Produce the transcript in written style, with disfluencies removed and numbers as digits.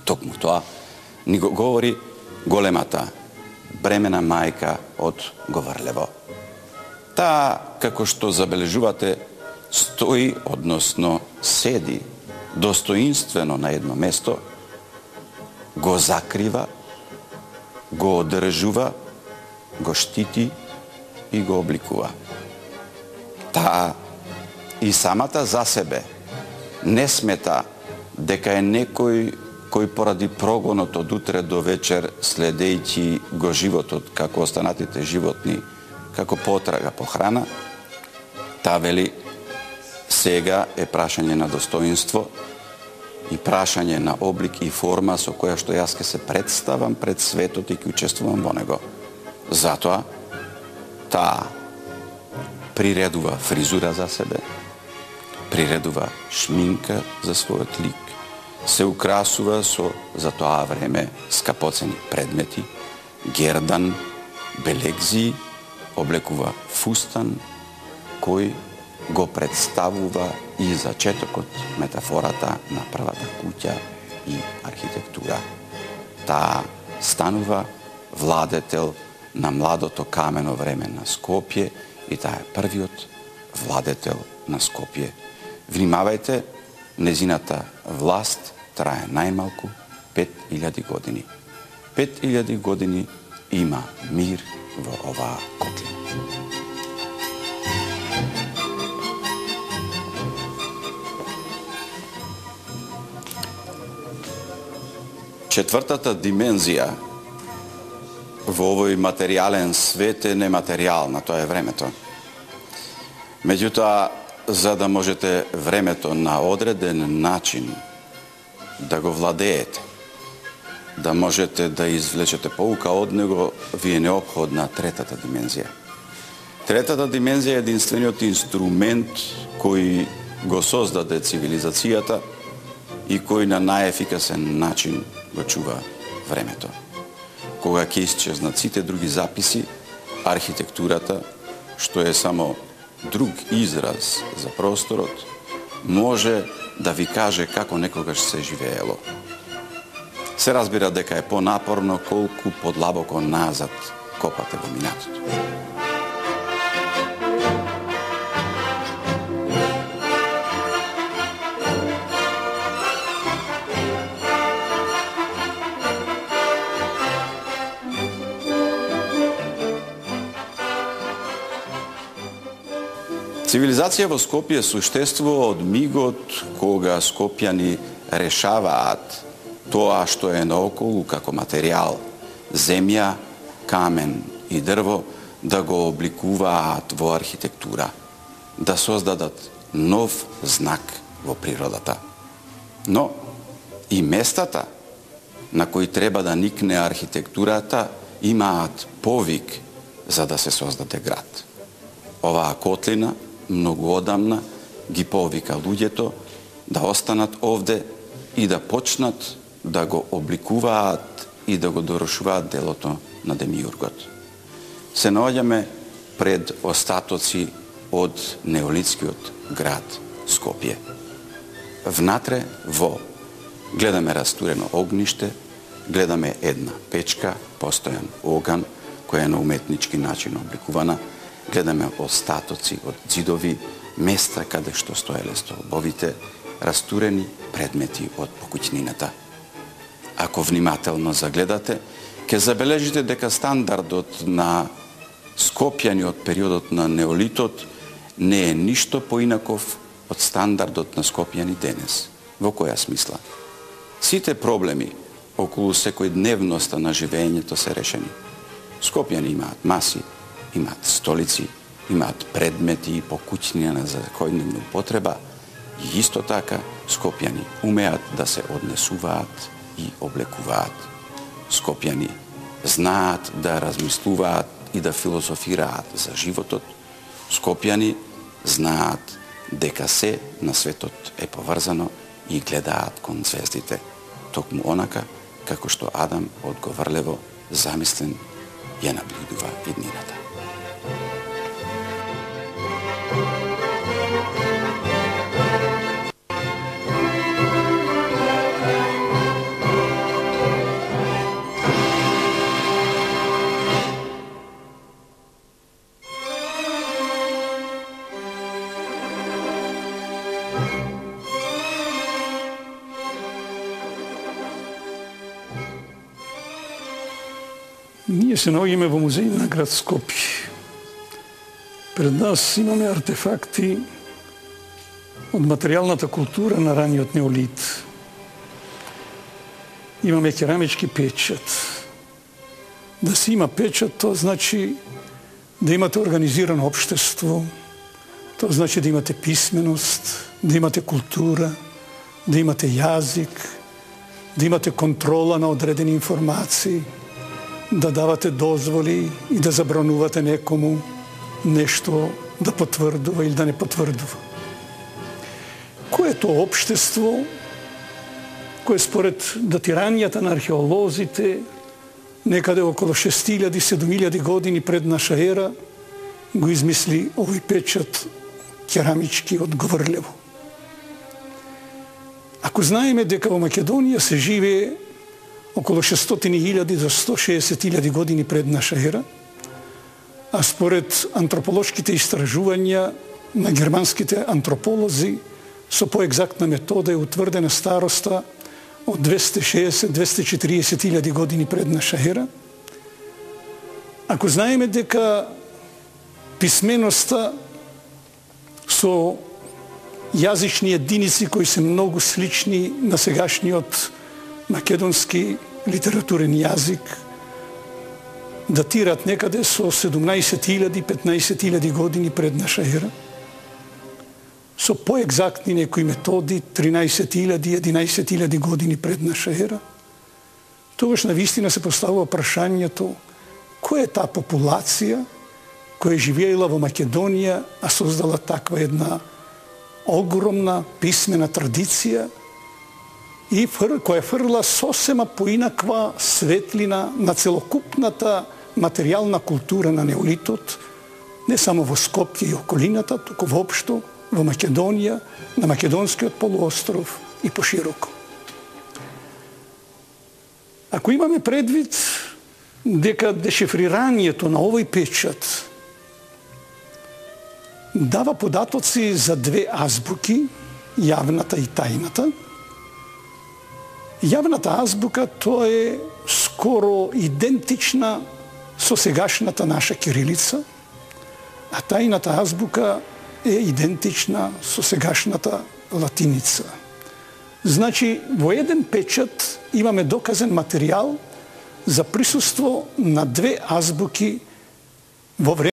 Токму тоа ни го говори големата бремена мајка од Говрлево. Таа, како што забележувате, стои, односно седи достоинствено на едно место, го закрива, го одржува, го штити и го обликува. Таа и самата за себе не смета дека е некој кој поради прогонот од утре до вечер, следејќи го животот како останатите животни, како потрага по храна, таа вели сега е прашање на достоинство и прашање на облик и форма со која што јас ке се представам пред светот и ке учествувам во него. Затоа таа приредува фризура за себе, приредува шминка за својот лик, се украсува со за тоа време скапоцени предмети, гердан, белегзи, облекува фустан кој го представува и зачетокот, метафората на првата куќа и архитектура. Таа станува владетел на младото камено време на Скопје и таа е првиот владетел на Скопје. Внимавајте, незината власт трае најмалку 5000 години. 5000 години има мир во оваа котлина. Четвртата димензија во овој материјален свет е нематеријална, тоа е времето. Меѓутоа, за да можете времето на одреден начин да го владеете, да можете да извлечете поука од него, ви е неопходна третата димензија. Третата димензија е единствениот инструмент кој го создаде цивилизацијата и кој на најефикасен начин го чува времето. Кога ќе исчезнат сите други записи, архитектурата, што е само друг израз за просторот, може да ви каже како некогаш се живеело. Се разбира дека е понапорно колку подлабоко назад копате во минатото. Цивилизација во Скопје суштествува од мигот кога скопјани решаваат тоа што е наоколу како материјал, земја, камен и дрво, да го обликуваат во архитектура, да создадат нов знак во природата. Но и местата на кои треба да никне архитектурата имаат повик за да се создаде град. Оваа котлина многу одамна ги повика луѓето да останат овде и да почнат да го обликуваат и да го дорошуваат делото на демиургот. Се наоѓаме пред остатоци од неолитскиот град Скопје. Внатре во гледаме растурено огниште, гледаме една печка, постојан оган, која е на уметнички начин обликувана, гледаме остатоци од ѕидови, места каде што стоеле столбовите, растурени предмети од покуќнината. Ако внимателно загледате, ќе забележите дека стандардот на скопјани од периодот на неолитот не е ништо поинаков од стандардот на скопјани денес. Во која смисла? Сите проблеми околу секојдневноста на живењето се решени. Скопјани имаат маси, имаат столици, имаат предмети и покуќнина за секојдневна употреба и исто така скопјани умеат да се однесуваат и облекуваат. Скопјани знаат да размислуваат и да философираат за животот. Скопјани знаат дека се на светот е поврзано и гледаат кон звездите, токму онака како што Адам од Говрлево замислен ја наблюдува иднината. Ние се наоѓаме во музеј на град Скопје. Пред нас имаме артефакти од материјалната култура на раниот неолит. Имаме керамички печат. Да се има печат, тоа значи да имате организирано општество, тоа значи да имате писменост, да имате култура, да имате јазик, да имате контрола на одредени информации, да давате дозволи и да забранувате некому нешто да потврдува или да не потврдува. Кој е тоа општество кое според датирањата на археолозите некаде околу 6000-7000 години пред наша ера го измисли овој печат керамички од Говорлево? Ако знаеме дека во Македонија се живее околу 600.000 до 160.000 години пред наша ера, а според антрополошките истражувања на германските антрополози со поегзактна метода е утврдена староста од 260-240.000 години пред наша ера, ако знаеме дека писменоста со јазични единици кои се многу слични на сегашниот македонски литературен јазик, датират некаде со 17.000-15.000 години пред наша ера, со поегзактни некои методи 13.000-11.000 години пред наша ера, тогаш навистина се поставува прашањето која е таа популација која живеела во Македонија, а создала таква една огромна писмена традиција и која фрла сосема поинаква светлина на целокупната материјална култура на неолитот, не само во Скопје и околината, туку воопшто во Македонија, на Македонскиот полуостров и пошироко. Ако имаме предвид дека дешифрирањето на овој печат дава податоци за две азбуки, јавната и тајната. Јавната азбука тоа е скоро идентична со сегашната наша кирилица, а тајната азбука е идентична со сегашната латиница. Значи, во еден печат имаме доказен материјал за присуство на две азбуки во време